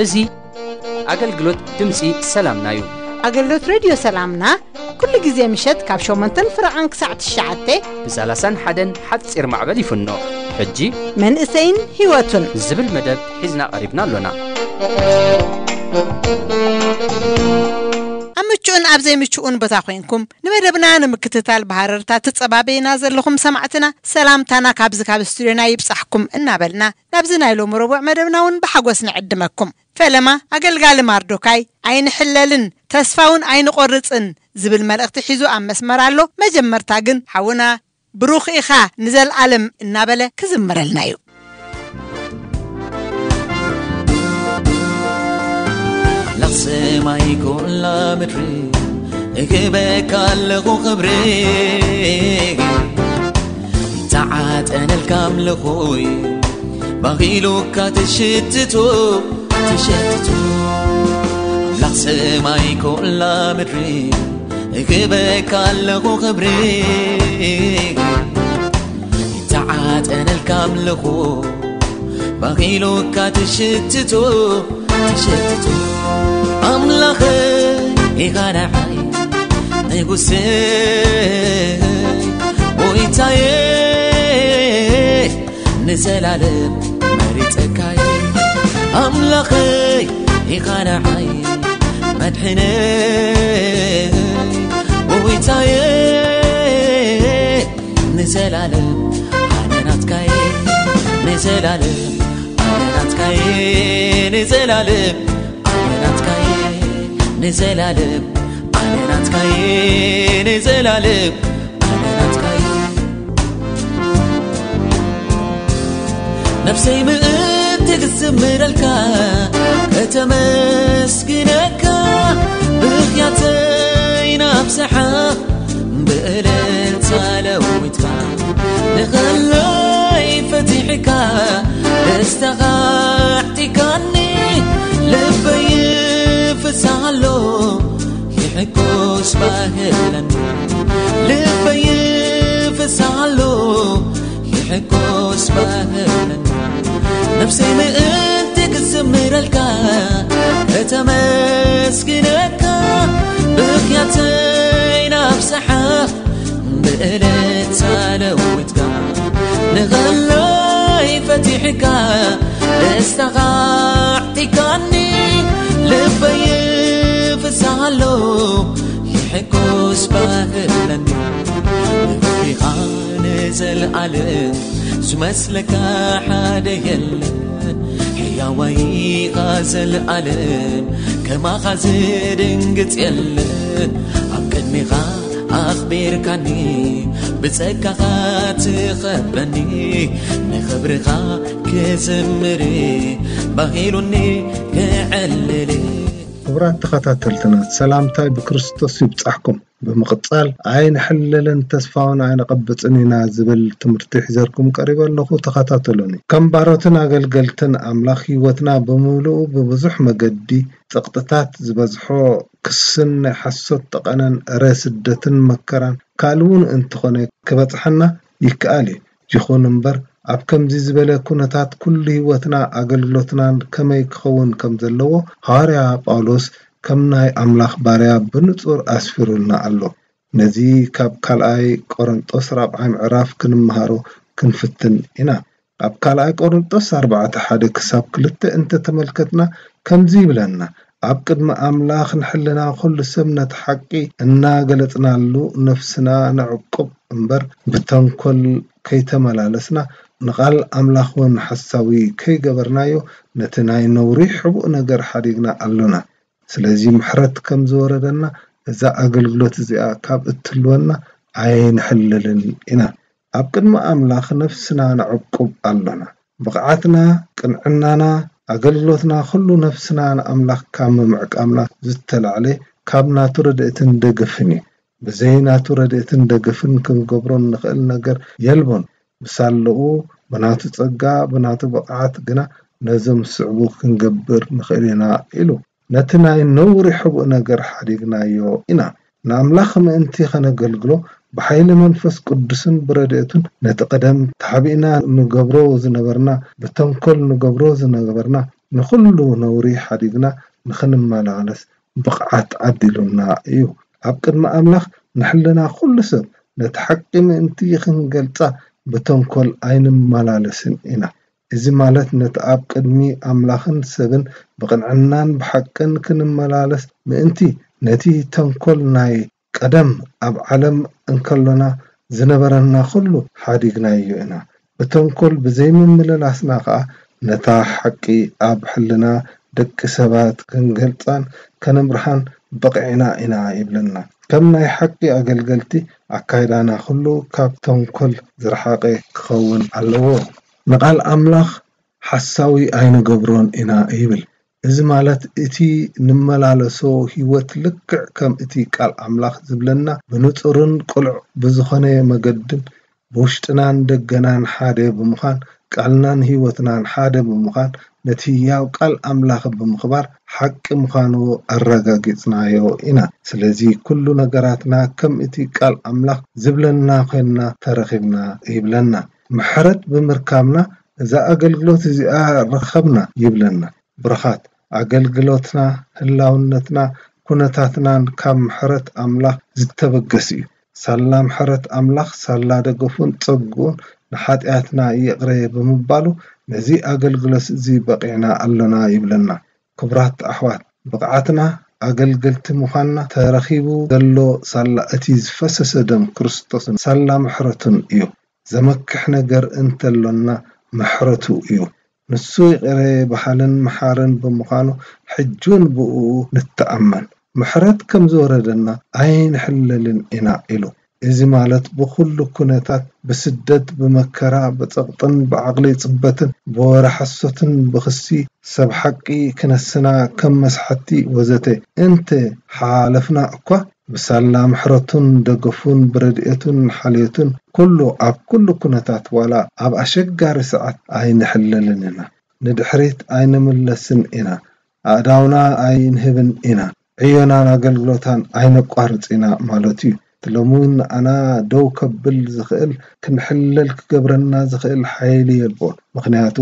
እዚ ኣገልግሎት ድምፂ ሰላምና እዩ። ኣገልግሎት ሬድዮ ሰላምና ኩሉ ግዜ ምሸት ካብ ሸሞንተን ፍረቓን ክሳዕ ትሽዓተ ብ ሰላሳን ሓደን ሓፂር ማዕበል ይፍኖ። ሕጂ መንእሰይን ህይወቱን ዝብል መደብ ሒዝና ቀሪብና ኣሎና። ኣብ ምቹእን ኣብ ዘይምቹእን ቦታ ኮይንኩም ንመደብና ንምክትታል ብሃረርታ ትጸባበዩና ዘለኹም ሰማዕትና ሰላምታና ካብዚ ካብ ስቱድዮና ይብጻሕኩም እናበልና ናብዚ ናይ ሎሚ ረቡዕ መደብና እውን ብሓጎስ ንዕድመኩም። ፈለማ ኣገልጋሊ ማርዶካይ ኣይንሕለልን ተስፋውን ኣይንቆርጽን ዝብል መልእኽቲ ሒዙ ኣብ መስመር ኣሎ። መጀመርታ ግን ሓውና ብሩኽ ኢኻ ንዘልኣለም እናበለ ክዝምረልና እዩ። ኣምላኽ ሰማይ ኩላ ምድሪ እህበካ ኣለኹ ክብሪ ይተዓጠነልካ ኣምልኾይ ባኺሉካ ትሽትቱ ትሸትቱ ኣምላኽ ሰማይ ኩላ ምድሪ እህበካ ኣለኹ ክብሪ ይተዓጠነልካ ኣምልኾ ባኺሉካ ትሽትቱ ትሸትቱ ኣምላኸ ኢኻ ንዓይ ንጉሰ ጎይታየ ንዘላለም መሪጸካየ ኣምላኸይ ኢኻ ንዓይ መድሕነይ ጎይታየ ንዘላለም ኣነ ናትካየ ንዘላለም ኣነ ናትካየ ንዘላለም ኣነ ናትካየ ንዘላለም ኣነ ናትካየ ንዘላለም ኣነ ናትካየ ነፍሰይ ምእንቲ ክዝምረልካ ከተመስግነካ ብኽያተይ ናብዝሓ ብእልልታ ለዊጥካ ንኸለይ ፈቲሕካ ደስታኻ ኣዕጢካኒ ልበይ ፍሳሃሎ ይሕጎስ ባህለኒ ልበይ ፍሳሃሎ ይሕጎስ ባህለኒ ነፍሰይ ምእንቲ ክዝምረልካ ከተመስግነካ ብኽያተይ ናብዝሓ ብእልልታ ለዊጥካ ንኸለይ ፈቲሕካ ደስታኻ ኣዕጢካኒ ልበይ ፍሳሃሎ ይሕጎስ ባህለኒ ንኽብሪኻ ንዘለኣለም ዝመስለካ ሓደ የለን ሕያዋይኻ ዘለኣለም ከማኻ ዝድንግጽ የለን ኣብ ቅድሚኻ ኣኽቢርካኒ ብጸጋኻ ትኸበኒ ንኽብርኻ ክዝምር ባሂሉኒ ክዕልል ክቡራት ተኸታተልትና ሰላምታይ ብክርስቶስ ይብጻሕኩም ብምቕጻል ኣይንሕለልን ተስፋውን ኣይንቐብጽን ኢና ዝብል ትምህርቲ ሒዘልኩም ቀሪበ ኣለኹ ተኸታተሉኒ ከም ባሮትን ኣገልገልትን ኣምላኽ ህይወትና ብምሉኡ ብብዙሕ መገዲ ጸቕጥታት ዝበዝሖ ክስን ናይ ሓሶት ጠቐነን እረ ስደትን መከራን ካልእ እውን እንተኾነ ክበጽሓና ይከኣል እዩ። ይኹን እምበር ኣብ ከምዚ ዝበለ ኩነታት ኩሉ ህይወትና ኣገልግሎትናን ከመይ ክኸውን ከም ዘለዎ ሃዋርያ ጳውሎስ ከም ናይ ኣምላኽ ባርያ ብንጹር ኣስፊሩልና ኣሎ። ነዚ ካብ ካልኣይ ቆሮንጦስ ራብዓይ ምዕራፍ ክንምሃሮ ክንፍትን ኢና። ኣብ ካልኣይ ቆሮንጦስ ኣርባዕተ ሓደ ክሳብ ክልተ እንተተመልከትና ከምዚ ይብለና፣ ኣብ ቅድሚ ኣምላኽ ንሕልና ኩሉ ሰብ ነቲ ሓቂ እናገለጽናሉ ነፍስና ነዕቁብ እምበር ብተንኮል ከይተመላለስና ንቓል ኣምላኽ እውን ሓሳዊ ከይገበርናዮ ነቲ ናይ ነውሪ ሕቡእ ነገር ሓዲግና ኣሎና። ስለዚ ምሕረት ከም ዝወረደና እዛ ኣገልግሎት እዚኣ ካብ እትልወና ኣይንሕልልን ኢና። ኣብ ቅድሚ ኣምላኽ ነፍስና ነዕቁብ ኣሎና። ብቕዓትና፣ ቅንዕናና፣ ኣገልግሎትና ኩሉ ነፍስና ንኣምላኽ ካብ ምምዕቃምና ዝተላዕለ ካብ ናቱ ረድኤትን ደገፍን እዩ። ብዘይ ናቱ ረድኤትን ደገፍን ክንገብሮ እንኽእል ነገር የልቦን። ብሳለኡ ብናቱ ጸጋ፣ ብናቱ ብቕዓት ግና ነዞም ዝስዕቡ ክንገብር ንኽእል ኢና ኢሉ። ነቲ ናይ ነውሪ ሕቡእ ነገር ሓዲግናዮ ኢና። ንኣምላኽ ምእንቲ ኸነገልግሎ፣ ብሓይሊ መንፈስ ቅዱስን ብረድኤቱን ነቲ ቀደም ተሓቢእና ንገብሮ ዝነበርና፣ ብተንኮል ንገብሮ ዝነበርና ንኹሉ ነውሪ ሓዲግና ንኽንመላለስ ብቕዓት ዓዲሉና እዩ። ኣብ ቅድሚ ኣምላኽ ንሕልና ኩሉ ሰብ ነቲ ሓቂ ምእንቲ ኽንገልጻ ብተንኮል ኣይንመላለስን ኢና። እዚ ማለት ነቲ ኣብ ቅድሚ ኣምላኽን ሰብን ብቕንዕናን ብሓቅን ክንመላለስ ምእንቲ ነቲ ተንኮል ናይ ቀደም ኣብ ዓለም እንከሎና ዝነበረና ኩሉ ሓዲግናዮ ኢና። ብተንኮል ብዘይምምልላስና ኸኣ ነታ ሓቂ ኣብ ሕልና ደቂ ሰባት ክንገልጻን ከነምርሓን በቒዕና ኢና ይብለና። ከም ናይ ሓቂ ኣገልገልቲ ኣካይዳና ኩሉ ካብ ተንኮል ዝረሓቐ ክኸውን ኣለዎ። ንቓል ኣምላኽ ሓሳዊ ኣይንገብሮን ኢና ይብል። እዚ ማለት እቲ ንመላለሶ ህይወት ልክዕ ከም እቲ ቃል ኣምላኽ ዝብለና ብንጹርን ቅሉዕ ብዝኾነ መገድን ብውሽጥናን ደገናን ሓደ ብምዃን ቃልናን ህይወትናን ሓደ ብምዃን ነቲ ህያው ቃል ኣምላኽ ብምኽባር ሓቂ ምዃኑ ኣረጋጊጽናዮ ኢና። ስለዚ ኩሉ ነገራትና ከም እቲ ቃል ኣምላኽ ዝብለና ኮይንና ተረኺብና ይብለና። ምሕረት ብምርካብና እዛ ኣገልግሎት እዚኣ ረኸብና ይብለና። ብሩኻት፣ ኣገልግሎትና፣ ህላውነትና፣ ኩነታትናን ካብ ምሕረት ኣምላኽ ዝተበገስ እዩ። ሳላ ምሕረት ኣምላኽ፣ ሳላ ደገፉን ጸግኡን ንሓጢኣትና ይቕረ ብምባሉ ነዚ ኣገልግሎት እዚ በቒዕና ኣሎና ይብለና። ክቡራት ኣሕዋት፣ ብቕዓትና ኣገልገልቲ ምዃንና ተረኺቡ ዘሎ ሳላ እቲ ዝፈሰሰ ደም ክርስቶስን ሳላ ምሕረቱን እዩ። ዘመክሕ ነገር እንተሎና ምሕረቱ እዩ። ንሱ ይቕረ በሃልን መሓርን ብምዃኑ ሕጂ እውን ብእኡ ንተኣመን። ምሕረት ከም ዝወረደና ኣይንሕለልን ኢና ኢሉ። እዚ ማለት ብኹሉ ኩነታት፣ ብስደት፣ ብመከራ፣ ብጸቕጥን ብዓቕሊ ጽበትን፣ ብወረ ሓሶትን ብኽሲ ሰብ ሓቂ ክነስና ከም መስሓቲ ወዘተ እንተ ሓለፍና እኳ፣ ብሳላ ምሕረቱን ደገፉን ብረድኤቱን ሓልዮቱን ኩሉ ኣብ ኩሉ ኩነታት ዋላ ኣብ ኣሸጋሪ ሰዓት ኣይንሕለልን ኢና። ንድሕሪት ኣይንምለስን ኢና። ኣእዳውና ኣይንህብን ኢና። ዕዮናን ኣገልግሎታን ኣይነቋርጽ ኢና ማለቱ እዩ። እቲ ሎሚ እውን ንኣና ደው ከብል ዝኽእል፣ ክንሕለል ክገብረና ዝኽእል ሓይሊ የልቦን። ምኽንያቱ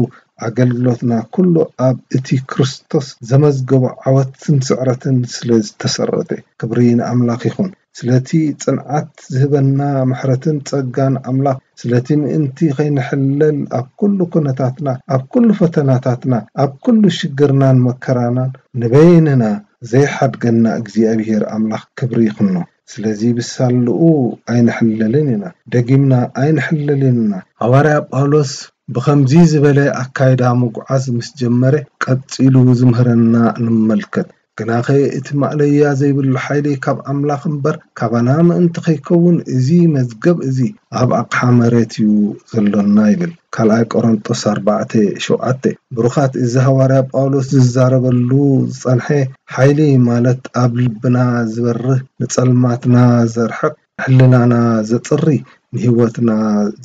ኣገልግሎትና ኩሉ ኣብ እቲ ክርስቶስ ዘመዝገቦ ዓወትን ስዕረትን ስለ ዝተሰረተ። ክብሪ ንኣምላኽ ይኹን። ስለቲ ጽንዓት ዝህበና ምሕረትን ጸጋን ኣምላኽ፣ ስለቲ ምእንቲ ኸይንሕለል ኣብ ኩሉ ኩነታትና፣ ኣብ ኩሉ ፈተናታትና፣ ኣብ ኩሉ ሽግርናን መከራናን ንበይንና ዘይሓድገና እግዚኣብሔር ኣምላኽ ክብሪ ይኹኖ። ስለዚ ብሳልኡ ኣይንሕለልን ኢና፣ ደጊምና ኣይንሕለልን ኢና። ሃዋርያ ጳውሎስ ብኸምዚ ዝበለ ኣካይዳ ምጉዓዝ ምስ ጀመረ፣ ቀጺሉ ዝምህረና ንመልከት። ግናኸ እቲ ማእለያ ዘይብሉ ሓይሊ ካብ ኣምላኽ እምበር፣ ካባና ምእንቲ ኸይከውን፣ እዚ መዝገብ እዚ ኣብ ኣቕሓ መሬት እዩ ዘሎና ይብል። ካልኣይ ቆሮንጦስ ኣርባዕተ ሸውዓተ። ብሩኻት፣ እዚ ሃዋርያ ጳውሎስ ዝዛረበሉ ዝጸንሐ ሓይሊ፣ ማለት ኣብ ልብና ዝበርህ፣ ንጸልማትና ዘርሕቕ፣ ሕልናና ዘጽሪ፣ ንህይወትና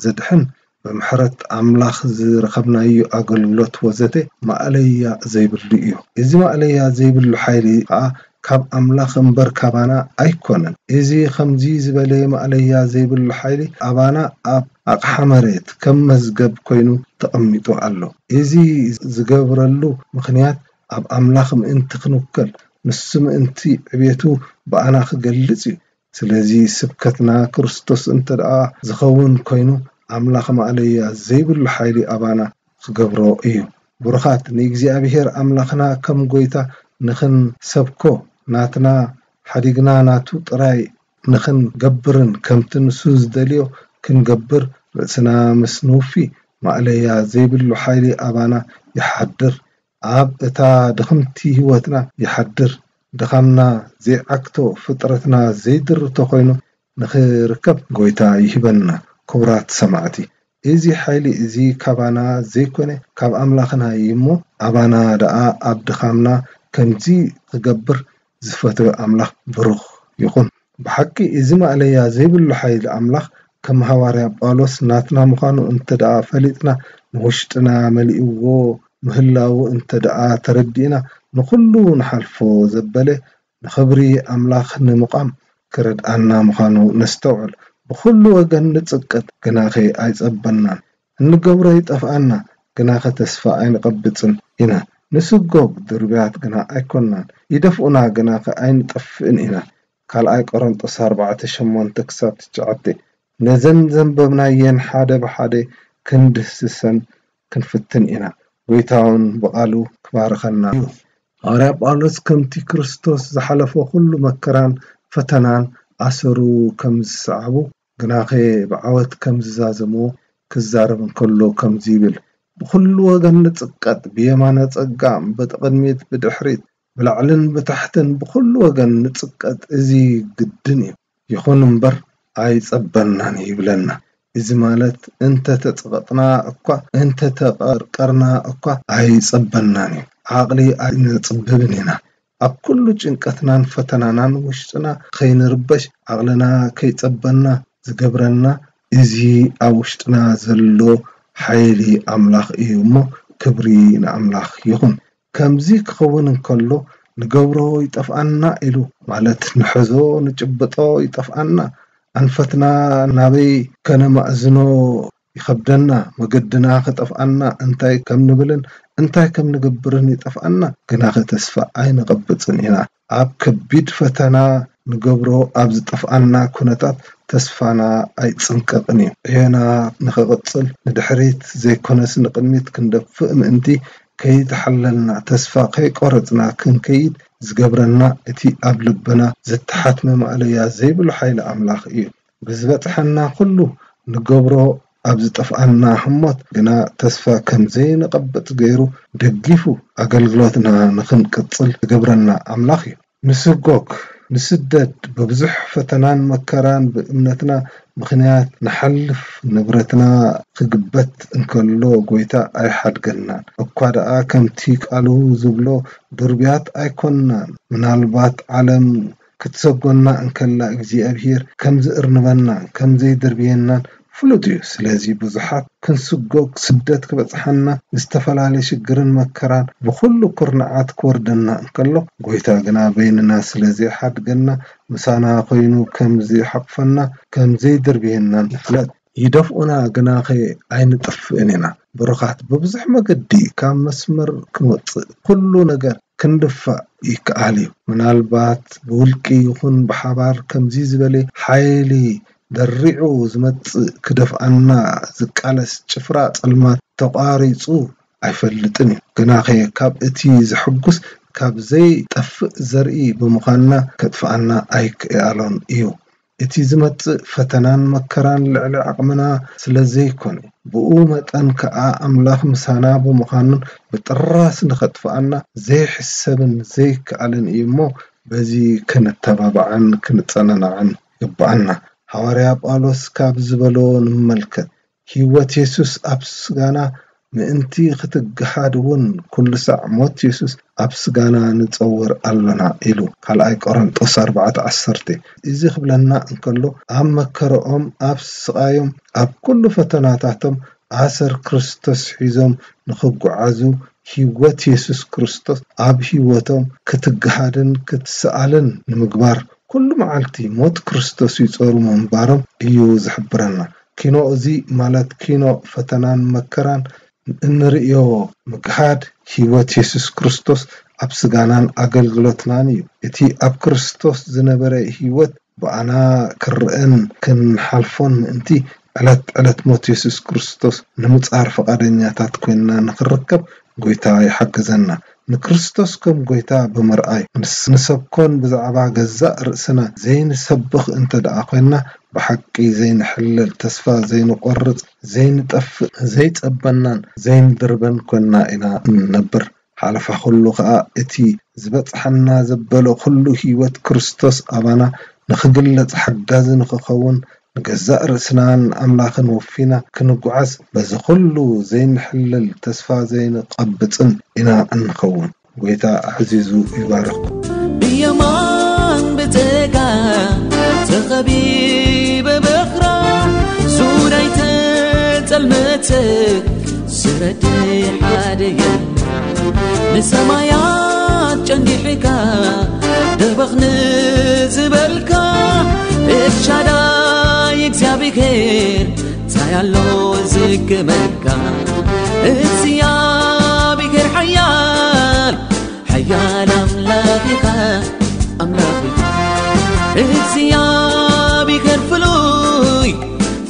ዘድሕን፣ ብምሕረት ኣምላኽ ዝረኸብናዮ ኣገልግሎት ወዘተ ማእለያ ዘይብሉ እዩ። እዚ ማእለያ ዘይብሉ ሓይሊ ኸኣ ካብ ኣምላኽ እምበር ካባና ኣይኮነን። እዚ ኸምዚ ዝበለ ማእለያ ዘይብሉ ሓይሊ ኣባና ኣብ ኣቕሓ መሬት ከም መዝገብ ኮይኑ ተቐሚጡ ኣሎ። እዚ ዝገብረሉ ምኽንያት ኣብ ኣምላኽ ምእንቲ ክንውከል፣ ንሱ ምእንቲ ዕቤቱ ብኣና ክገልጽ እዩ። ስለዚ ስብከትና ክርስቶስ እንተ ደኣ ዝኸውን ኮይኑ፣ ኣምላኽ ማእለያ ዘይብሉ ሓይሊ ኣባና ክገብሮ እዩ። ብሩኻት፣ ንእግዚኣብሔር ኣምላኽና ከም ጐይታ ንኽንሰብኮ፣ ናትና ሓዲግና ናቱ ጥራይ ንኽንገብርን ከምቲ ንሱ ዝደልዮ ክንገብር ርእስና ምስ ንውፊ፣ ማእለያ ዘይብሉ ሓይሊ ኣባና ይሓድር። ኣብ እታ ድኽምቲ ህይወትና ይሓድር። ድኻምና ዘይዓግቶ፣ ፍጥረትና ዘይድርቶ ኮይኑ ንኽርከብ ጐይታ ይህበና። ክቡራት ሰማዕቲ፣ እዚ ሓይሊ እዚ ካባና ዘይኮነ ካብ ኣምላኽና እዩ እሞ፣ ኣባና ደኣ ኣብ ድኻምና ከምዚ ክገብር ዝፈተወ ኣምላኽ ብሩኽ ይኹን። ብሓቂ እዚ ማእለያ ዘይብሉ ሓይሊ ኣምላኽ ከም ሃዋርያ ጳውሎስ ናትና ምዃኑ እንተ ደኣ ፈሊጥና፣ ንውሽጥና መሊእዎ ምህላዉ እንተ ደኣ ተረዲእና፣ ንኹሉ ንሓልፎ ዘበለ ንኽብሪ ኣምላኽ ንምቓም ክረድኣና ምዃኑ ነስተውዕል። ብኹሉ ወገን ንጽቅጥ፣ ግናኸ ኣይጸበናን። እንገብሮ ይጠፍኣና፣ ግናኸ ተስፋ ኣይንቐብጽን ኢና። ንስጎግ ድርብያት ግና ኣይኮንናን። ይደፍኡና፣ ግናኸ ኣይንጠፍእን ኢና። ካልኣይ ቆሮንጦስ ኣርባዕተ ሸሞንተ ክሳብ ትሽዓተ። ነዘን ዘንበብናየን ሓደ ብሓደ ክንድህስሰን ክንፍትን ኢና። ጎይታውን ብቓሉ ክባርኸና እዩ። ሃዋርያ ጳውሎስ ከምቲ ክርስቶስ ዝሓለፎ ኩሉ መከራን ፈተናን ኣሰሩ ከም ዝሰዓቡ፣ ግናኸ ብዓወት ከም ዝዛዘምዎ ክዛረብ እንከሎ ከምዚ ይብል፣ ብኹሉ ወገን ንጽቀጥ፣ ብየማነ ጸጋም፣ ብቕድሚት ብድሕሪት፣ ብላዕልን ብታሕትን ብኹሉ ወገን ንጽቀጥ፣ እዚ ግድን እዩ። ይኹን እምበር ኣይጸበናን ይብለና። እዚ ማለት እንተ ተጸቐጥና እኳ፣ እንተ ተቐርቀርና እኳ ኣይጸበናን እዩ። ዓቕሊ ኣይነጽብብን ኢና። ኣብ ኩሉ ጭንቀትናን ፈተናናን ውሽጥና ከይንርበሽ፣ ዓቕልና ከይጸበና ዝገብረና እዚ ኣብ ውሽጥና ዘሎ ሓይሊ ኣምላኽ እዩ እሞ፣ ክብሪ ንኣምላኽ ይኹን። ከምዚ ክኸውን እንከሎ፣ ንገብሮ ይጠፍኣና ኢሉ፣ ማለት ንሕዞ ንጭብጦ ይጠፍኣና፣ ኣንፈትና ናበይ ከነማእዝኖ ይኸብደና፣ መገድና ክጠፍኣና፣ እንታይ ከም ንብልን እንታይ ከም ንገብርን ይጠፍኣና፣ ግናኸ ተስፋ ኣይነቐብጽን ኢና። ኣብ ከቢድ ፈተና ንገብሮ ኣብ ዝጠፍኣና ኩነታት ተስፋና ኣይጽንቀቕን እዩ። ዕዮና ንኸቕጽል ንድሕሪት ዘይኮነስ ንቕድሚት ክንደፍእ ምእንቲ ከይተሓለልና ተስፋ ከይቆረጽና ክንከይድ ዝገብረና እቲ ኣብ ልብና ዝተሓትመ ማእለያ ዘይብሉ ሓይሊ ኣምላኽ እዩ። ብዝበጽሐና ኩሉ ንገብሮ ኣብ ዝጠፍኣና ህሞት ግና ተስፋ ከም ዘይንቐብጽ ገይሩ ደጊፉ ኣገልግሎትና ንኽንቅጽል ዝገብረና ኣምላኽ እዩ። ንስጎግ፣ ንስደድ፣ ብብዙሕ ፈተናን መከራን ብእምነትና ምኽንያት ንሓልፍ፣ ንብረትና ክግበት እንከሎ ጎይታ ኣይሓድገናን። እኳ ደኣ ከምቲ ቃሉ ዝብሎ ድርብያት ኣይኮንናን። ምናልባት ዓለም ክትሰጎና እንከላ እግዚኣብሔር ከም ዝእርንበና፣ ከም ዘይድርብየናን ፍሉጥ እዩ። ስለዚ ብዙሓት ክንስጎግ፣ ስደት ክበጽሓና፣ ዝተፈላለየ ሽግርን መከራን ብኹሉ ኩርናዓት ክወርደና እንከሎ፣ ጎይታ ግና በይንና ስለ ዘይሓድገና፣ ምሳና ኮይኑ ከም ዘይሓቕፈና፣ ከም ዘይድርብየና ንፍለጥ። ይደፍኡና ግናኸ ኣይንጠፍእን ኢና። ብሩኻት፣ ብብዙሕ መገዲ ካብ መስመር ክንወጽእ፣ ኩሉ ነገር ክንድፋእ ይከኣል እዩ። ምናልባት ብውልቂ ይኹን ብሓባር ከምዚ ዝበለ ሓይሊ ደሪዑ ዝመጽእ ክደፍኣና ዝቃለስ ጭፍራ ጸልማት ተቋሪጹ ኣይፈልጥን እዩ። ግናኸ ካብ እቲ ዘሐጉስ ካብ ዘይጠፍእ ዘርኢ ብምዃንና ከጥፍኣና ኣይክኣሎን እዩ። እቲ ዝመጽእ ፈተናን መከራን ልዕሊ ዓቕምና ስለ ዘይኮነ፣ ብኡ መጠን ከኣ ኣምላኽ ምሳና ብምዃኑን ብጥራስ ንኸጥፍኣና ዘይሕሰብን ዘይከኣልን እዩ እሞ፣ በዚ ክንተባባዕን ክንጸናናዕን ይግብኣና። ሃዋርያ ጳውሎስ ካብ ዝበሎ ንመልከት፣ ህይወት የሱስ ኣብ ስጋና ምእንቲ ክትገሃድ እውን ኩሉ ሳዕ ሞት የሱስ ኣብ ስጋና ንጸውር ኣሎና ኢሉ። ካልኣይ ቆሮንጦስ ኣርባዕተ ዓሰርተ። እዚ ክብለና እንከሎ፣ ኣብ መከረኦም፣ ኣብ ስቓዮም፣ ኣብ ኩሉ ፈተናታቶም ኣሰር ክርስቶስ ሒዞም ንኽጓዓዙ፣ ህይወት የሱስ ክርስቶስ ኣብ ህይወቶም ክትገሃድን ክትሰኣልን ንምግባር፣ ኩሉ መዓልቲ ሞት ክርስቶስ ይጾሩ ምንባሮም እዩ ዝሕብረና። ኪኖ እዚ ማለት ኪኖ ፈተናን መከራን እንርእዮ ምግሃድ ህይወት የሱስ ክርስቶስ ኣብ ስጋናን ኣገልግሎትናን እዩ። እቲ ኣብ ክርስቶስ ዝነበረ ህይወት ብኣና ክረኣን ክንሓልፎን ምእንቲ፣ ዕለት ዕለት ሞት የሱስ ክርስቶስ ንምጻር ፍቓደኛታት ኮይንና ንኽንርከብ ጎይታ ይሓግዘና። ንክርስቶስ ከም ጎይታ ብምርኣይ፣ ንስ-፣ ንሰብኮን ብዛዕባ ገዛእ ርእስና ዘይንሰብኽ እንተ ደኣ ኮይንና፣ ብሓቂ ዘይንሕለል፣ ተስፋ ዘይንቖርጽ፣ ዘይንጠፍእ፣ ዘይጸበናን ዘይንድርበን ኮይንና ኢና እንነብር። ሓለፋ ኩሉ ኸኣ እቲ ዝበጽሓና ዘበለ ኩሉ ህይወት ክርስቶስ ኣባና ንኽግለጽ ሓጋዚ ንኽኸውን፣ ንገዛእ ርእስናን ኣምላኽን ወፊና ክንጓዓዝ፣ በዚ ኩሉ ዘይንሕለል ተስፋ ዘይንቐብጽን ኢና እንኸውን። ጎይታ ኣዕዚዙ ይባርኽኩም። ብየማን ብጸጋም ተኸቢበ በኽራ ብራይ ተጸልመተ ዝረዲ ሓደ የለ። ንሰማያት ጨንዲሕካ ደበኽ ንዝበልካ፣ ኤልሻዳይ እግዚኣብሔር እንታይ ኣሎ ዝግመካ? እግዚኣብሔር ሓያል ሓያል ኣምላኽ ኢኻ፣ ኣምላኽ ኢኻ። እግዚኣብሔር ፍሉይ፣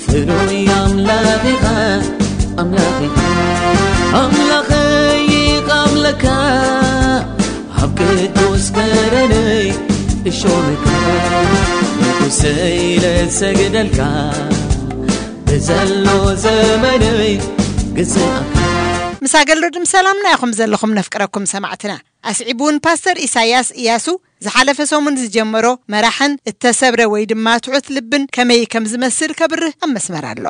ፍሉይ ኣምላኽ ኢኻ፣ ኣምላኽ ኢኻ። ኣምላኸይ ይቓምለካ፣ ኣብ ቅዱስ ከረነይ እሾመካ። ንጉሰይ ለሰግደልካ፣ ብዘሎ ዘመነይ ግዝኣካ። ምስ ኣገልግሎት ሰላምና ኢኹም ዘለኹም ነፍቅረኩም ሰማዕትና። ኣስዒቡ እውን ፓስተር ኢሳያስ ኢያሱ ዝሓለፈ ሰሙን ዝጀመሮ መራሕን እተሰብረ ወይ ድማ ትሑት ልብን ከመይ ከም ዝመስል ከብርህ ኣብ መስመር ኣሎ።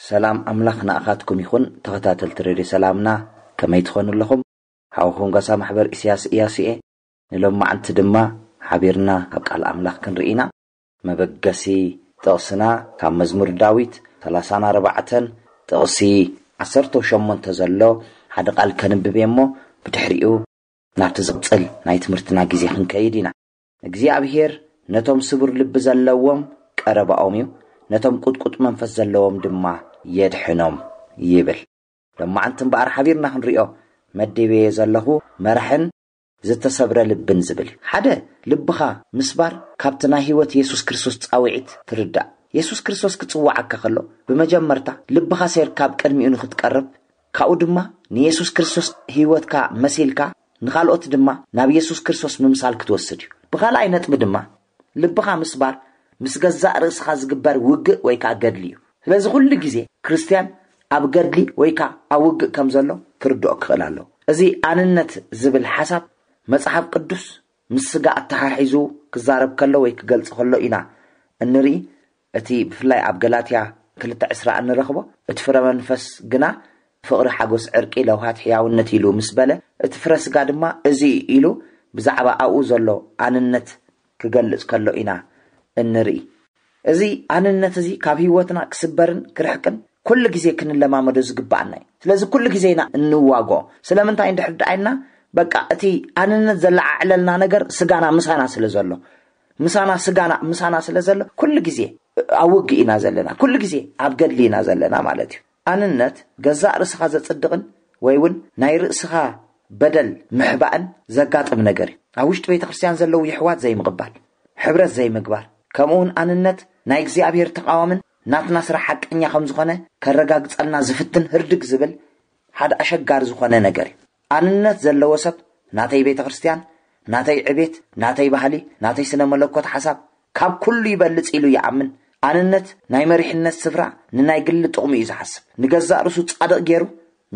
ሰላም ኣምላኽ ንኣኻትኩም ይኹን። ተኸታተልቲ ሬድዮ ሰላምና፣ ከመይ ትኾኑ ኣለኹም? ሓውኹም ጋሳ ማሕበር ኢሳያስ ኢያሱ እየ። ንሎማዓንቲ ድማ ሓቢርና ካብ ቃል ኣምላኽ ክንርኢ ኢና። መበገሲ ጥቕስና ካብ መዝሙር ዳዊት ሰላሳን ኣርባዕተን ጥቕሲ ዓሰርተ ሸሞንተ ዘሎ ሓደ ቃል ከንብብ እየ እሞ፣ ብድሕሪኡ ናብቲ ዝቕጽል ናይ ትምህርትና ግዜ ክንከይድ ኢና። እግዚኣብሔር ነቶም ስቡር ልቢ ዘለዎም ቀረባኦም እዩ፣ ነቶም ቁጥቁጥ መንፈስ ዘለዎም ድማ የድሕኖም ይብል። ሎማዓንቲ እምበኣር ሓቢርና ክንሪኦ መዲበየ ዘለኹ መራሕን ዝተሰብረ ልብን ዝብል እዩ። ሓደ፣ ልብኻ ምስባር ካብቲ ናይ ህይወት የሱስ ክርስቶስ ጻውዒት ትርዳእ። የሱስ ክርስቶስ ክጽውዓካ ከሎ፣ ብመጀመርታ ልብኻ ሴርካ ኣብ ቅድሚኡ ንኽትቀርብ፣ ካብኡ ድማ ንየሱስ ክርስቶስ ህይወትካ መሲልካ ንኻልኦት ድማ ናብ የሱስ ክርስቶስ ምምሳል ክትወስድ እዩ። ብኻልኣይ ነጥቢ ድማ፣ ልብኻ ምስባር ምስ ገዛእ ርእስኻ ዝግበር ውግእ ወይ ከዓ ገድሊ እዩ። ስለዚ ኩሉ ግዜ ክርስትያን ኣብ ገድሊ ወይ ከዓ ኣብ ውግእ ከም ዘሎ ክርድኦ ክኽእል ኣለዎ። እዚ ኣንነት ዝብል ሓሳብ መጽሓፍ ቅዱስ ምስ ስጋ ኣተሓሒዙ ክዛረብ ከሎ ወይ ክገልጽ ከሎ ኢና እንርኢ። እቲ ብፍላይ ኣብ ገላትያ ክልተ ዕስራ እንረኽቦ፣ እቲ ፍረ መንፈስ ግና ፍቕሪ፣ ሓጎስ፣ ዕርቂ፣ ለውሃት፣ ሕያውነት ኢሉ ምስ በለ፣ እቲ ፍረ ስጋ ድማ እዚ ኢሉ ብዛዕባ ኣብኡ ዘሎ ኣንነት ክገልጽ ከሎ ኢና እንርኢ። እዚ ኣንነት እዚ ካብ ህይወትና ክስበርን ክርሕቅን ኩሉ ግዜ ክንለማመዶ ዝግባኣና እዩ። ስለዚ ኩሉ ግዜ ኢና እንዋጎ። ስለምንታይ እንድሕር ደኣ ኢልና፣ በቃ እቲ ኣንነት ዘለዓዕለልና ነገር ስጋና ምሳና ስለ ዘሎ፣ ምሳና ስጋና ምሳና ስለ ዘሎ ኩሉ ግዜ ኣብ ውግእ ኢና ዘለና፣ ኩሉ ግዜ ኣብ ገድሊ ኢና ዘለና ማለት እዩ። ኣንነት ገዛእ ርእስኻ ዘጽድቕን ወይ እውን ናይ ርእስኻ በደል ምሕባእን ዘጋጥም ነገር እዩ። ኣብ ውሽጢ ቤተ ክርስቲያን ዘለዉ የሕዋት ዘይምቕባል፣ ሕብረት ዘይምግባር፣ ከምኡ እውን ኣንነት ናይ እግዚኣብሔር ተቓዋምን ናትና ስራሕ ሓቀኛ ከም ዝኾነ ከረጋግጸልና ዝፍትን ህርድግ ዝብል ሓደ ኣሸጋሪ ዝኾነ ነገር እዩ። ኣንነት ዘለዎ ሰብ ናተይ ቤተ ክርስቲያን፣ ናተይ ዕቤት፣ ናተይ ባህሊ፣ ናተይ ስነ መለኮት ሓሳብ ካብ ኩሉ ይበልጽ ኢሉ ይኣምን። ኣንነት ናይ መሪሕነት ስፍራ ንናይ ግሊ ጥቕሙ እዩ ዝሓስብ። ንገዛእ ርእሱ ጻድቕ ገይሩ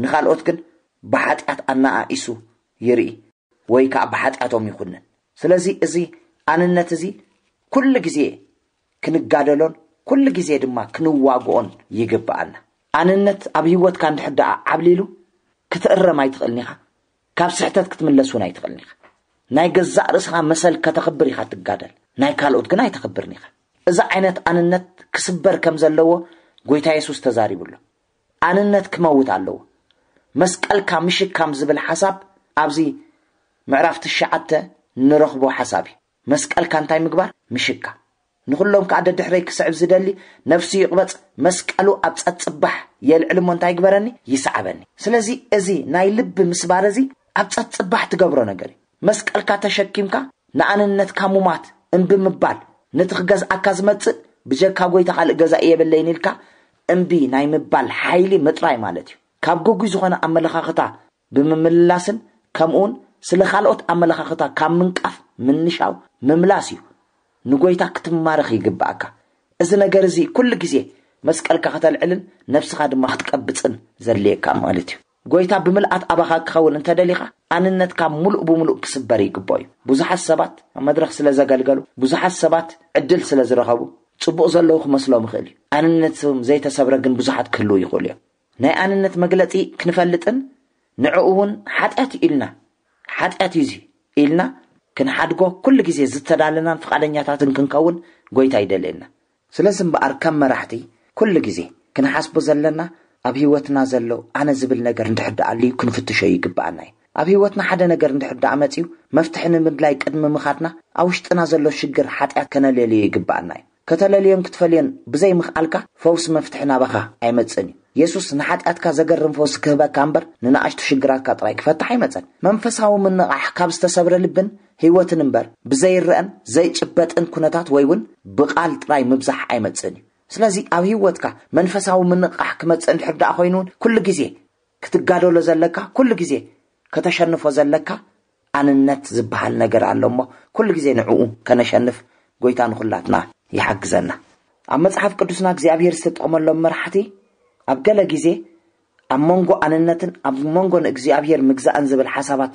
ንኻልኦት ግን ብሓጢኣት ኣነኣኢሱ ይርኢ ወይ ከዓ ብሓጢኣቶም ይኹንን። ስለዚ እዚ ኣንነት እዚ ኩሉ ግዜ ክንጋደሎን ኩሉ ግዜ ድማ ክንዋግኦን ይግብኣና። ኣንነት ኣብ ህይወትካ እንድሕር ደኣ ዓብሊሉ ክትእረም ኣይትኽእልን ኢኻ። ካብ ስሕተት ክትምለስ እውን ኣይትኽእልን ኢኻ። ናይ ገዛእ ርእስኻ መሰል ከተኽብር ኢኻ ትጋደል፣ ናይ ካልኦት ግን ኣይተኽብርን ኢኻ። እዚ ዓይነት ኣንነት ክስበር ከም ዘለዎ ጎይታ የሱስ ተዛሪቡ ኣሎ። ኣንነት ክመውት ኣለዎ። መስቀልካ ምሽካም ዝብል ሓሳብ ኣብዚ ምዕራፍ ትሽዓተ ንረኽቦ ሓሳብ እዩ። መስቀልካ እንታይ ምግባር? ምሽካ። ንኹሎም ከኣ ደድሕረይ ክስዕብ ዝደሊ ነፍሱ ይቕበጽ፣ መስቀሉ ኣብ ጸጽባሕ የልዕል እሞ እንታይ ይግበረኒ? ይስዓበኒ። ስለዚ እዚ ናይ ልቢ ምስባር እዚ ኣብ ጸጽባሕ ትገብሮ ነገር እዩ። መስቀልካ ተሸኪምካ ንኣንነትካ ሙማት እምቢ ምባል፣ ነቲ ክገዝኣካ ዝመጽእ ብጀካ ጎይታ ካልእ ገዛኢ የብለይን ኢልካ እምቢ ናይ ምባል ሓይሊ ምጥራይ ማለት እዩ። ካብ ግጉይ ዝኾነ ኣመለኻኽታ ብምምልላስን ከምኡውን ስለ ካልኦት ኣመለኻኽታ ካብ ምንቃፍ ምንሻው ምምላስ እዩ። ንጎይታ ክትማረኽ ይግብኣካ። እዚ ነገር እዚ ኩሉ ግዜ መስቀልካ ከተልዕልን ነብስኻ ድማ ክትቀብጽን ዘድልየካ ማለት እዩ። ጎይታ ብምልኣት ኣባኻ ክኸውን እንተደሊኻ ኣንነትካ ሙሉእ ብሙሉእ ክስበር ይግብኦ እዩ። ብዙሓት ሰባት ኣብ መድረኽ ስለ ዘገልገሉ፣ ብዙሓት ሰባት ዕድል ስለ ዝረኸቡ ጽቡቕ ዘለዉ ክመስሎም ይኽእል እዩ። ኣንነቶም ዘይተሰብረ ግን ብዙሓት ክህልዉ ይኽእሉ እዮም። ናይ ኣንነት መግለጺ ክንፈልጥን ንዕኡ እውን ሓጢኣት ኢልና ሓጢኣት እዩ እዚ ኢልና ክንሓድጎ ኩሉ ግዜ ዝተዳለናን ፍቓደኛታትን ክንከውን ጎይታ ይደልየና። ስለዚ እምበኣር ከም መራሕቲ ኩሉ ግዜ ክንሓስቦ ዘለና ኣብ ህይወትና ዘሎ ኣነ ዝብል ነገር እንድሕር ደኣ ኣልዩ ክንፍትሾ ይግብኣና እዩ። ኣብ ህይወትና ሓደ ነገር እንድሕር ደኣ መጺኡ መፍትሒ ንምድላይ ቅድሚ ምኻድና ኣብ ውሽጥና ዘሎ ሽግር ሓጢኣት ከነለልዮ ይግብኣና እዩ። ከተለልዮን ክትፈልዮን ብዘይ ምኽኣልካ ፈውሲ መፍትሒ ናባኻ ኣይመጽእን እዩ። የሱስ ንሓጢኣትካ ዘገርም ፈውሲ ክህበካ እምበር ንንኣሽቱ ሽግራትካ ጥራይ ክፈትሕ ኣይመጸን። መንፈሳዊ ምንቓሕ ካብ ዝተሰብረ ልብን ህይወትን እምበር ብዘይረአን ዘይጭበጥን ኩነታት ወይ እውን ብቓል ጥራይ ምብዛሕ ኣይመጽእን እዩ። ስለዚ ኣብ ህይወትካ መንፈሳዊ ምንቕቓሕ ክመጽእ እንድሕር ደኣ ኮይኑ እውን ኩሉ ግዜ ክትጋደሎ ዘለካ፣ ኩሉ ግዜ ከተሸንፎ ዘለካ ኣንነት ዝበሃል ነገር ኣሎ እሞ ኩሉ ግዜ ንዕኡ ከነሸንፍ ጎይታ ንኹላትና ይሓግዘና። ኣብ መጽሓፍ ቅዱስና እግዚኣብሔር ዝተጠቕመሎም መራሕቲ ኣብ ገለ ግዜ ኣብ መንጎ ኣንነትን ኣብ መንጎ ንእግዚኣብሔር ምግዛእን ዝብል ሓሳባት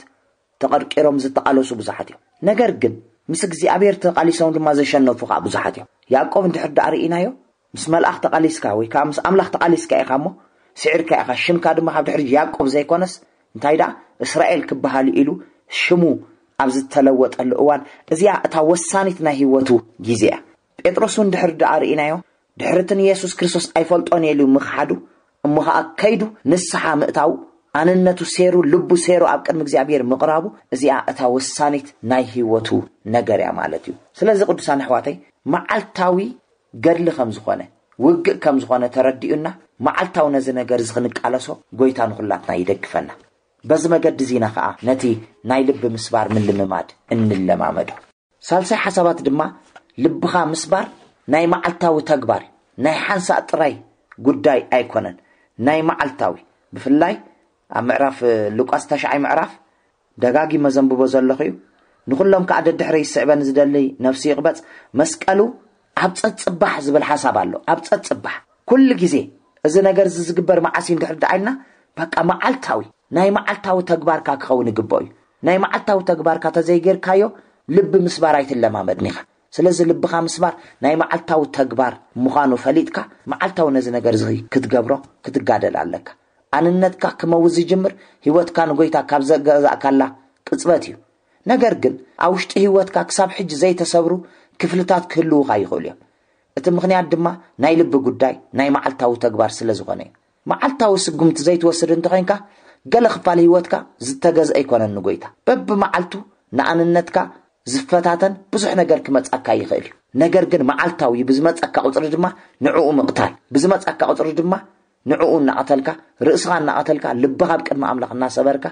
ተቐርቂሮም ዝተቓለሱ ብዙሓት እዮም። ነገር ግን ምስ እግዚኣብሔር ተቓሊሶም ድማ ዘሸነፉ ከዓ ብዙሓት እዮም። ያዕቆብ እንድሕር ደኣ ርኢናዮ፣ ምስ መልኣኽ ተቓሊስካ ወይ ከዓ ምስ ኣምላኽ ተቓሊስካ ኢኻ እሞ ስዒርካ ኢኻ፣ ሽምካ ድማ ካብ ድሕሪ ያዕቆብ ዘይኮነስ እንታይ ደኣ እስራኤል ክበሃል ኢሉ ሽሙ ኣብ ዝተለወጠሉ እዋን፣ እዚኣ እታ ወሳኒት ናይ ህይወቱ ግዜ እያ። ጴጥሮስ እውን ድሕር ደኣ ርኢናዮ፣ ድሕሪ እቲ ንየሱስ ክርስቶስ ኣይፈልጦን እየ ኢሉ ምኽሓዱ፣ እሞ ኸዓ ከይዱ ንስሓ ምእታው፣ ኣንነቱ ሴሩ፣ ልቡ ሴሩ ኣብ ቅድሚ እግዚኣብሔር ምቕራቡ፣ እዚኣ እታ ወሳኒት ናይ ህይወቱ ነገር እያ ማለት እዩ። ስለዚ ቅዱሳን ኣሕዋተይ፣ መዓልታዊ ገድሊ ከም ዝኾነ፣ ውግእ ከም ዝኾነ ተረዲኡና፣ መዓልታዊ ነዚ ነገር እዚ ክንቃለሶ ጎይታ ንኹላትና ይደግፈና። በዚ መገዲ እዚና ኸዓ ነቲ ናይ ልቢ ምስባር ምልምማድ እንለማመዶ። ሳልሳይ ሓሳባት ድማ ልብኻ ምስባር ናይ መዓልታዊ ተግባር እዩ። ናይ ሓንሳእ ጥራይ ጉዳይ ኣይኮነን፣ ናይ መዓልታዊ። ብፍላይ ኣብ ምዕራፍ ሉቃስ ተሽዓይ ምዕራፍ ደጋጊመ ዘንብቦ ዘለኹ እዩ። ንኹሎም ከኣ ደድሕረይ ዝስዕበኒ ዝደሊ ነፍሲ ይቕበጽ። መስቀሉ ኣብ ጸጽባሕ ዝብል ሓሳብ ኣሎ። ኣብ ጸጽባሕ ኩሉ ግዜ እዚ ነገር እዚ ዝግበር መዓስ እዩ እንድሕር ደኣ ኢልና፣ በቃ መዓልታዊ፣ ናይ መዓልታዊ ተግባርካ ክኸውን ይግብኦ እዩ። ናይ መዓልታዊ ተግባርካ ተዘይጌርካዮ ልቢ ምስባር ኣይትለማመድን ኢኻ። ስለዚ ልብኻ ምስባር ናይ መዓልታዊ ተግባር ምዃኑ ፈሊጥካ መዓልታዊ ነዚ ነገር እዚ ክትገብሮ ክትጋደል ኣለካ። ኣንነትካ ክመውዝ ዝጅምር ህይወትካ ንጎይታ ካብ ዘገዛእካላ ቅጽበት እዩ። ነገር ግን ኣብ ውሽጢ ህይወትካ ክሳብ ሕጂ ዘይተሰብሩ ክፍልታት ክህልዉኻ ይኽእሉ እዮም። እቲ ምኽንያት ድማ ናይ ልቢ ጉዳይ ናይ መዓልታዊ ተግባር ስለ ዝኾነ እዩ። መዓልታዊ ስጉምቲ ዘይትወስድ እንተኾይንካ፣ ገለ ክፋል ህይወትካ ዝተገዝአ ኣይኮነን ንጎይታ። በብመዓልቱ ንኣንነትካ ዝፈታተን ብዙሕ ነገር ክመጻካ ይኽእል እዩ። ነገር ግን መዓልታዊ ብዝመጸካ ቁጽሪ ድማ ንዕኡ ምቕታል፣ ብዝመጸካ ቁጽሪ ድማ ንዕኡ እናቐተልካ፣ ርእስኻ እናቐተልካ፣ ልብኻ ኣብ ቅድሚ ኣምላኽ እናሰበርካ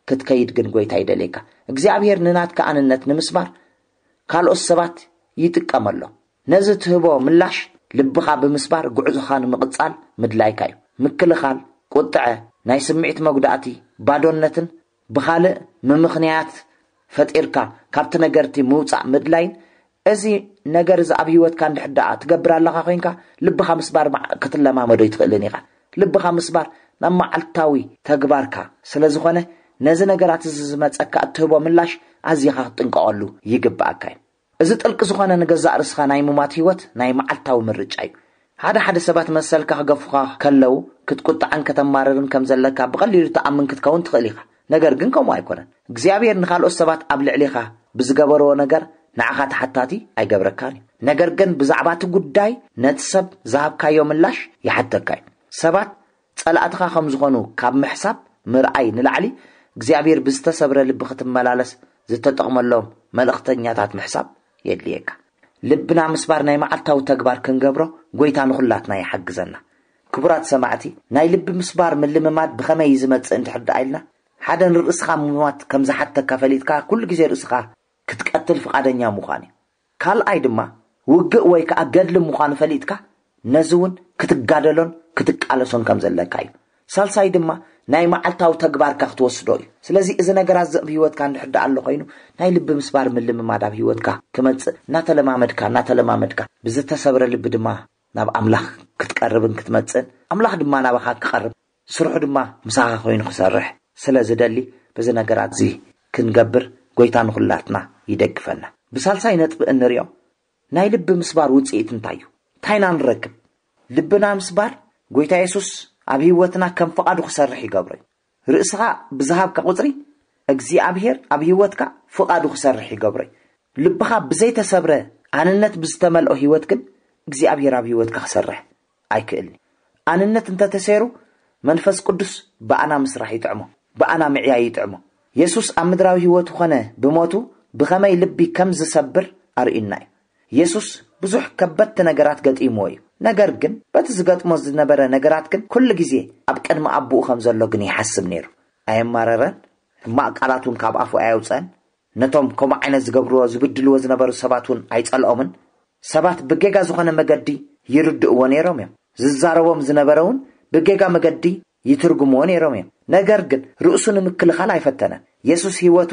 ክትከይድ ግን ጎይታ ይደልየካ። እግዚኣብሔር ንናትካ ኣንነት ንምስባር ካልኦት ሰባት ይጥቀመሎም። ነዚ ትህቦ ምላሽ ልብኻ ብምስባር ጉዕዞኻ ንምቕጻል ምድላይካ እዩ። ምክልኻል፣ ቁጥዐ፣ ናይ ስምዒት መጉዳእቲ፣ ባዶነትን ብኻልእ ምምኽንያት ፈጢርካ ካብቲ ነገርቲ ምውጻእ ምድላይን፣ እዚ ነገር እዚ ኣብ ህይወትካ እንድሕር ደኣ ትገብር ኣለኻ ኮይንካ፣ ልብኻ ምስባር ማዕ-፣ ክትለማመዶ ይትኽእልን ኢኻ። ልብኻ ምስባር ናብ መዓልታዊ ተግባርካ ስለ ዝኾነ፣ ነዚ ነገራት እዚ ዝመጸካ እትህቦ ምላሽ ኣዚኻ ክትጥንቀቐሉ ይግብኣካ እዩ። እዚ ጥልቂ ዝኾነ ንገዛእ ርእስኻ ናይ ምሟት ህይወት ናይ መዓልታዊ ምርጫ እዩ። ሓደ ሓደ ሰባት መሰልካ ክገፉኻ ከለዉ ክትቁጣዕን ከተማርርን ከም ዘለካ ብቐሊሉ ትኣምን ክትከውን ትኽእል ኢኻ። ነገር ግን ከምኡ ኣይኮነን። እግዚኣብሔር ንኻልኦት ሰባት ኣብ ልዕሊኻ ብዝገበርዎ ነገር ንዓኻ ተሓታቲ ኣይገብረካን እዩ። ነገር ግን ብዛዕባ እቲ ጉዳይ ነቲ ሰብ ዝሃብካዮ ምላሽ ይሓተካ እዩ። ሰባት ጸላእትኻ ከም ዝኾኑ ካብ ምሕሳብ ምርኣይ ንላዕሊ እግዚኣብሔር ብዝተሰብረ ልቢ ክትመላለስ ዝተጠቕመሎም መልእኽተኛታት ምሕሳብ የድልየካ። ልብና ምስባር ናይ መዓልታዊ ተግባር ክንገብሮ ጎይታ ንኹላትና ይሓግዘና። ክቡራት ሰማዕቲ፣ ናይ ልቢ ምስባር ምልምማድ ብኸመይ እዩ ዝመጽእ እንድሕር ደኣ ኢልና፣ ሓደ ንርእስኻ ምሟት ከም ዝሓተካ ፈሊጥካ ኩሉ ግዜ ርእስኻ ክትቀትል ፍቓደኛ ምዃን እዩ። ካልኣይ ድማ ውግእ ወይ ከኣ ገድሊ ምዃኑ ፈሊጥካ ነዚ እውን ክትጋደሎን ክትቃለሶን ከም ዘለካ እዩ። ሳልሳይ ድማ ናይ መዓልታዊ ተግባርካ ክትወስዶ እዩ። ስለዚ እዚ ነገራት እዚ ኣብ ህይወትካ እንድሕር ደኣ ኣሎ ኮይኑ ናይ ልቢ ምስባር ምልምማድ ኣብ ህይወትካ ክመጽእ እናተለማመድካ እናተለማመድካ ብዝተሰብረ ልቢ ድማ ናብ ኣምላኽ ክትቀርብን ክትመጽእን ኣምላኽ ድማ ናባኻ ክቐርብ ስርሑ ድማ ምሳኻ ኮይኑ ክሰርሕ ስለ ዝደሊ በዚ ነገራት እዚ ክንገብር ጎይታ ንኹላትና ይደግፈና። ብሳልሳይ ነጥቢ እንሪኦ ናይ ልቢ ምስባር ውጽኢት እንታይ እዩ? እንታይ ኢና ንረክብ? ልብና ምስባር ጎይታ የሱስ ኣብ ህይወትና ከም ፍቓዱ ክሰርሕ ይገብሮ እዩ። ርእስኻ ብዝሃብካ ቁጽሪ እግዚኣብሔር ኣብ ህይወትካ ፍቓዱ ክሰርሕ ይገብሮ እዩ። ልብኻ ብዘይተሰብረ ኣንነት ብዝተመልኦ ህይወት ግን እግዚኣብሔር ኣብ ህይወትካ ክሰርሕ ኣይክእልን እዩ። ኣንነት እንተተሰይሩ መንፈስ ቅዱስ ብኣና ምስራሕ ይጥዕሞ፣ ብኣና ምዕያይ ይጥዕሞ። የሱስ ኣብ ምድራዊ ህይወቱ ኾነ ብሞቱ ብኸመይ ልቢ ከም ዝሰብር ኣርእዩና እዩ። የሱስ ብዙሕ ከበድቲ ነገራት ገጢምዎ እዩ። ነገር ግን በቲ ዝገጥሞ ዝነበረ ነገራት ግን ኩሉ ግዜ ኣብ ቅድሚ ኣቦኡ ከም ዘሎ ግን ይሓስብ ነይሩ። ኣየማረረን። ሕማቕ ቃላት እውን ካብ ኣፉ ኣየውፀአን። ነቶም ከምኡ ዓይነት ዝገብርዎ ዝብድልዎ ዝነበሩ ሰባት እውን ኣይጸልኦምን። ሰባት ብጌጋ ዝኾነ መገዲ ይርድእዎ ነይሮም እዮም። ዝዛረቦም ዝነበረ እውን ብጌጋ መገዲ ይትርጉምዎ ነይሮም እዮም። ነገር ግን ርእሱ ንምክልኻል ኣይፈተነን። የሱስ ህይወቱ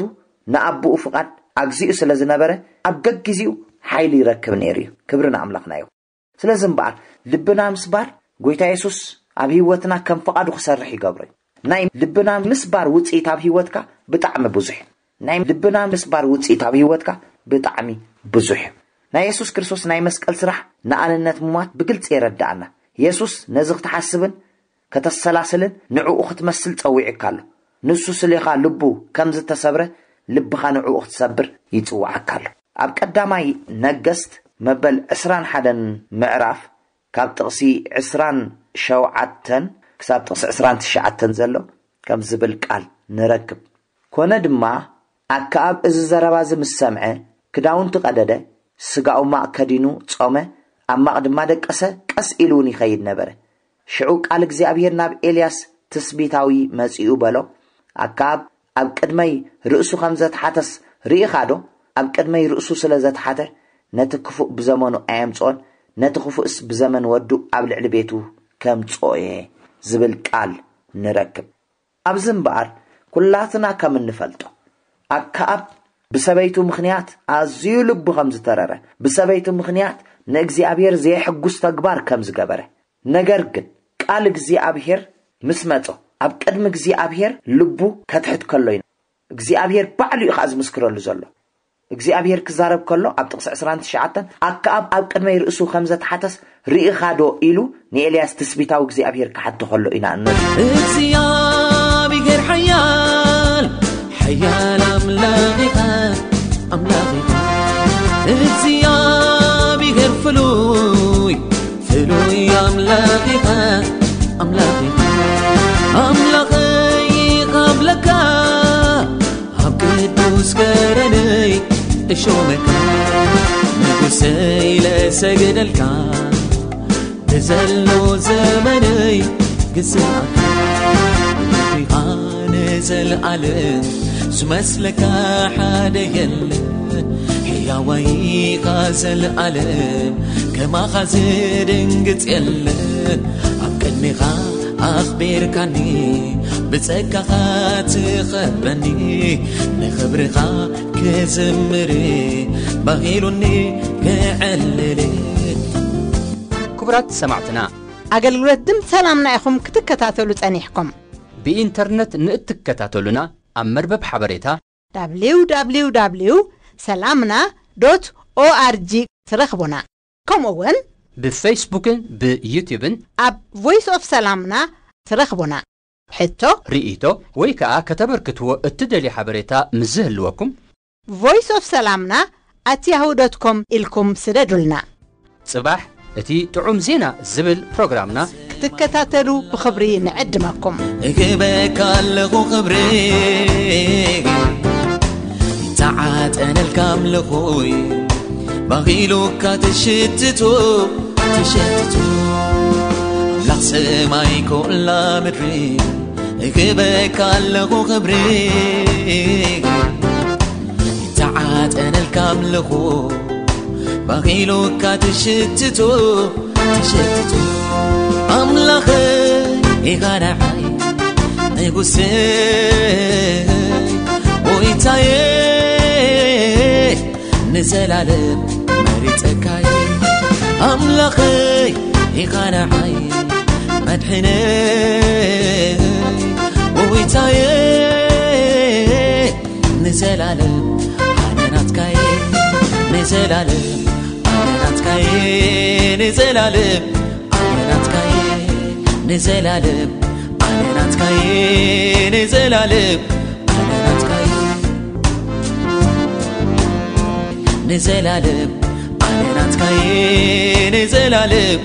ንኣቦኡ ፍቓድ ኣግዚኡ ስለ ዝነበረ ኣብ ገግዜኡ ሓይሊ ይረክብ ነይሩ እዩ። ክብሪ ንኣምላኽና እዩ። ስለዚ እምበኣር ልብና ምስባር ጎይታ የሱስ ኣብ ህይወትና ከም ፍቓዱ ክሰርሕ ይገብሮ እዩ። ናይ ልብና ምስባር ውፅኢት ኣብ ህይወትካ ብጣዕሚ ብዙሕ እዩ። ናይ ልብና ምስባር ውፅኢት ኣብ ህይወትካ ብጣዕሚ ብዙሕ እዩ። ናይ የሱስ ክርስቶስ ናይ መስቀል ስራሕ ንኣንነት ምሟት ብግልፂ የረድኣና። የሱስ ነዚ ክትሓስብን ከተሰላስልን ንዕኡ ክትመስል ጸዊዕካ ኣሎ። ንሱ ስሌኻ ልቡ ከም ዝተሰብረ ልብኻ ንዕኡ ክትሰብር ይጽውዓካ ኣሎ። ኣብ ቀዳማይ ነገስት መበል ዕስራን ሓደን ምዕራፍ ካብ ጥቕሲ ዕስራን ሸውዓተን ክሳብ ጥቕሲ ዕስራን ትሽዓተን ዘሎ ከም ዝብል ቃል ንረክብ። ኮነ ድማ ኣከኣብ እዚ ዘረባ እዚ ምስ ሰምዐ ክዳውንቱ ቀደደ፣ ስጋኡ ማቕ ከዲኑ ጾመ፣ ኣብ ማቕ ድማ ደቀሰ፣ ቀስ ኢሉ እውን ይኸይድ ነበረ። ሽዑ ቃል እግዚኣብሔር ናብ ኤልያስ ትስቢታዊ መጺኡ በሎ፣ ኣከኣብ ኣብ ቅድመይ ርእሱ ከም ዘትሓተስ ርኢኻ ዶ? ኣብ ቅድመይ ርእሱ ስለ ዘትሓተ ነቲ ክፉእ ብዘመኑ ኣየምጽኦን፣ ነቲ ክፉእስ ብዘመን ወዱ ኣብ ልዕሊ ቤቱ ከምጽኦ እየ ዝብል ቃል ንረክብ። ኣብዚ እምበኣር ኩላትና ከም እንፈልጦ ኣከኣብ ብሰበይቱ ምኽንያት ኣዝዩ ልቡ ከም ዝተረረ፣ ብሰበይቱ ምኽንያት ንእግዚኣብሔር ዘየሕጉስ ተግባር ከም ዝገበረ፣ ነገር ግን ቃል እግዚኣብሔር ምስ መጾ ኣብ ቅድሚ እግዚኣብሔር ልቡ ከትሕት ከሎ ኢና እግዚኣብሔር ባዕሉ እዩ ከኣ ዝምስክረሉ ዘሎ። እግዚኣብሔር ክዛረብ ከሎ ኣብ ጥቕሲ ዕስራን ትሽዓተን ኣከኣብ ኣብ ቅድመይ ርእሱ ከም ዘትሓተስ ርኢኻ ዶ ኢሉ ንኤልያስ ትስቢታዊ እግዚኣብሔር ክሓቶ ከሎ ኢና እነ እግዚኣብሔር ሓያል ሓያል ኣምላኽ ኢኻ ኣምላኽ ኢኻ እግዚኣብሔር ፍሉይ ፍሉይ ኣምላኽ ኢኻ ኣምላኽ ኢኻ ኣምላኸይ ኢኻ ብለካ ኣብ ቅዱስ ከረነይ እሾመካ ንጉሰይ ለሰግደልካ ብዘሎ ዘመነይ ግስኣካ ንዘልኣለም ዝመስለካ ሓደ የለን ሕያዋይኻ ዘልኣለም ከማኻ ዝድንግጽ የለን ኣብ ቅድሚኻ ኣኽቢርካኒ ብጸጋኻ ትኸበኒ ንኽብርኻ ክዝምር ባሂሉኒ ክዕልል ክቡራት ሰማዕትና ኣገልግሎት ድምፂ ሰላምና ኢኹም ክትከታተሉ ጸኒሕኩም ብኢንተርነት ንእትከታተሉና ኣብ መርበብ ሓበሬታ www ሰላምና ዶት ኦኣርጂ ትረኽቡና። ከምኡ እውን ብፌስቡክን ብዩትዩብን ኣብ ቮይስ ኦፍ ሰላምና ትረኽቡና። ሕቶ፣ ርእይቶ ወይ ከኣ ከተበርክትዎ እትደልዩ ሓበሬታ ምስ ዝህልወኩም voice of salamna at yahoo dot com ኢልኩም ስደዱልና። ጽባሕ እቲ ጥዑም ዜና ዝብል ፕሮግራምና ክትከታተሉ ብኽብሪ ንዕድመኩም። እህበካ ኣለኹ ክብሪ ተዓጠነልካ ኣምልኾይ ባኺሉካ ትሽትቶ ትሽትቶ ኣምላኽ ሰማይ ኮላ ምድሪ እህበካ ኣለኹ ክብሪ ተዓጠነልካ ኣምልኾ ባኺሉካ ትሽትቶ ትሸትቱ ኣምላኸ ኢኻ ንዓይ ንጉሰይ ጎይታየ ንዘላለም መሪጸካየ ኣምላኸይ ኢኻ ንዓይ መድሕነይ ጎይታየ ንዘላለም ኣነ ናትካየ ንዘላለም ኣነ ናትካየ ንዘላለም ኣነ ናትካየ ንዘላለም ኣነ ናትካየ ንዘላለም ኣነ ናትካየ ንዘላለም ኣነ ናትካየ ንዘላለም